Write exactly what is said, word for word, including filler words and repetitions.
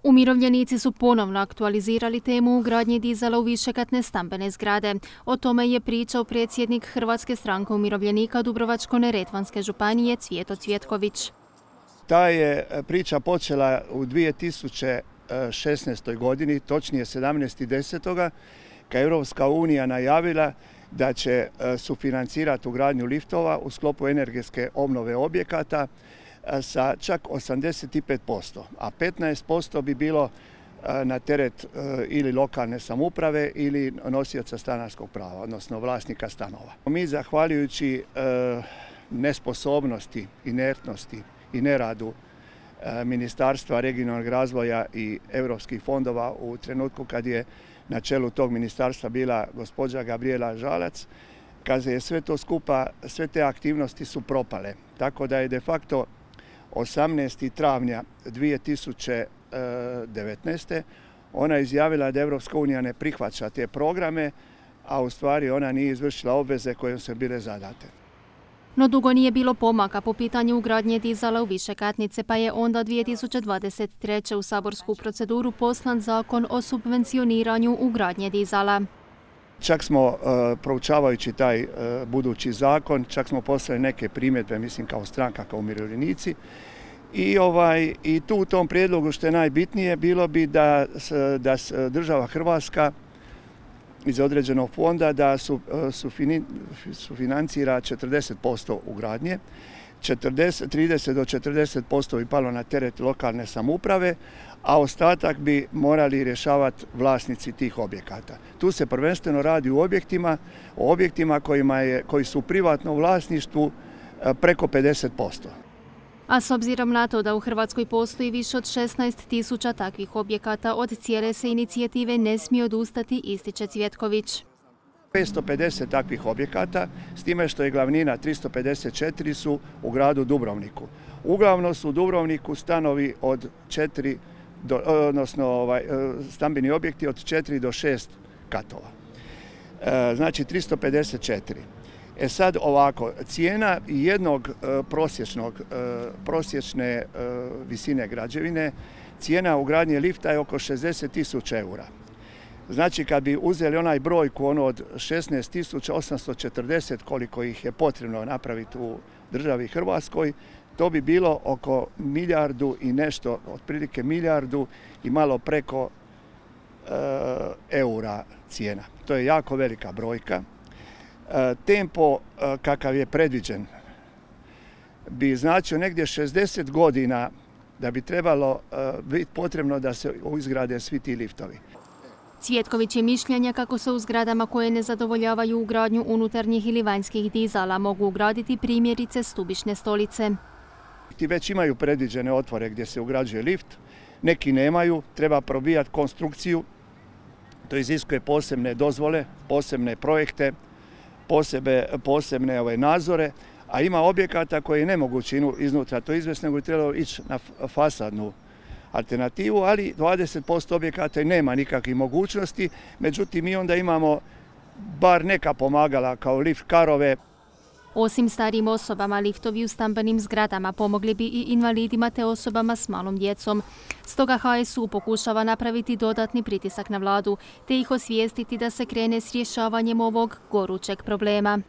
Umirovljenici su ponovno aktualizirali temu ugradnje dizala u višekatne stambene zgrade. O tome je pričao predsjednik Hrvatske stranke umirovljenika Dubrovačko-neretvanske županije Cvijeto Cvjetković. Ta je priča počela u dvije tisuće šesnaestoj godini, točnije sedamnaestog desetog kad je Europska unija najavila da će sufinancirati ugradnju liftova u sklopu energetske obnove objekata sa čak osamdeset pet posto, a petnaest posto bi bilo na teret ili lokalne samouprave ili nosioca stanarskog prava, odnosno vlasnika stanova. Mi, zahvaljujući nesposobnosti, inertnosti i neradu Ministarstva regionalnog razvoja i europskih fondova u trenutku kad je na čelu tog ministarstva bila gospođa Gabrijela Žalac, kad je sve to skupa, sve te aktivnosti su propale. Tako da je de facto osamnaestog travnja dvije tisuće devetnaeste. ona izjavila da Europska unija ne prihvaća te programe, a u stvari ona nije izvršila obveze koje su bile zadate. No dugo nije bilo pomaka po pitanju ugradnje dizala u višekatnice, pa je onda dvije tisuće dvadeset treće u saborsku proceduru poslan zakon o subvencioniranju ugradnje dizala. Čak smo, proučavajući taj budući zakon, čak smo poslali neke primjedbe, mislim kao stranka, kao umirovljenici. I, ovaj, i tu u tom prijedlogu što je najbitnije bilo bi da, da država Hrvatska iz određenog fonda da su, sufinancira četrdeset posto ugradnje, trideset do četrdeset posto bi palo na teret lokalne samouprave, a ostatak bi morali rješavati vlasnici tih objekata. Tu se prvenstveno radi o objektima, o objektima kojima je, koji su u privatnom vlasništvu preko pedeset posto. A s obzirom na to da u Hrvatskoj postoji više od šesnaest tisuća takvih objekata, od cijele se inicijative ne smije odustati, ističe Cvjetković. petsto pedeset takvih objekata, s time što je glavnina tristo pedeset četiri su u gradu Dubrovniku. Uglavnom su u Dubrovniku stanovi od četiri, do, odnosno ovaj, stambeni objekti od četiri do šest katova. E, znači tristo pedeset četiri. E sad ovako, cijena jednog prosječnog, prosječne visine građevine, cijena ugradnje lifta je oko šezdeset tisuća eura. Znači kad bi uzeli onaj brojku ono od šesnaest tisuća osamsto četrdeset koliko ih je potrebno napraviti u državi Hrvatskoj, to bi bilo oko milijardu i nešto, otprilike milijardu i malo preko e, eura cijena. To je jako velika brojka. Tempo kakav je predviđen bi značio negdje šezdeset godina da bi trebalo biti potrebno da se izgrade svi ti liftovi. Cvjetković je mišljenja kako se u zgradama koje ne zadovoljavaju ugradnju unutarnjih ili vanjskih dizala mogu ugraditi primjerice stubišne stolice. Ti već imaju predviđene otvore gdje se ugrađuje lift, neki nemaju, treba probijati konstrukciju, to iziskuje posebne dozvole, posebne projekte, Posebe, posebne ove nadzore, a ima objekata koji je nemoguće iznutra to izvesti, nego je trebalo ići na fasadnu alternativu, ali dvadeset posto objekata nema nikakvih mogućnosti, međutim mi onda imamo bar neka pomagala kao lift karove. Osim starijim osobama, liftovi u stambenim zgradama pomogli bi i invalidima te osobama s malom djecom. Stoga H S U pokušava napraviti dodatni pritisak na vladu te ih osvijestiti da se krene s rješavanjem ovog gorućeg problema.